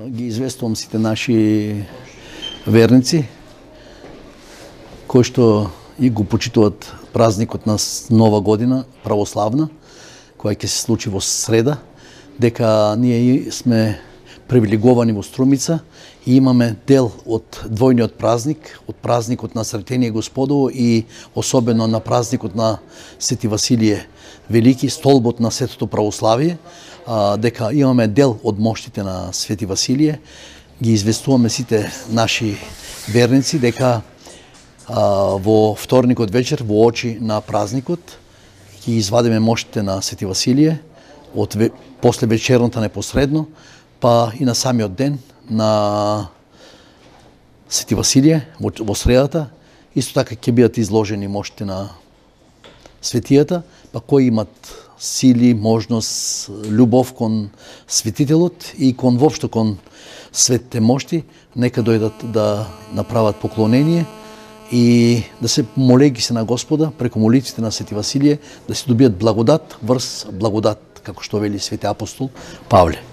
ги известувам сите наши верници кои што и го почитуваат празникот на Нова година православна, која ќе се случи во среда, дека ние сме привилеговани во Струмица и имаме дел од двојниот празник, од празникот на Сретение Господово и особено на празникот на Свети Василие Велики, столбот на светото православие, дека имаме дел од моштите на Свети Василие. Ги известуваме сите наши верници дека во вторникот вечер, во очи на празникот, ќе извадиме моштите на Свети Василие после вечерната непосредно, па и на самиот ден на Свети Василие во средата. Исто така ќе бидат изложени моштите на светијата, па кои имат сили, можност, љубов кон светителот и кон воопшто кон светите мошти, нека дојдат да направат поклонение и да се молејќи се на Господа преку молитвите на Свети Василие, да се добијат благодат врз благодат, како што вели свети апостол Павле.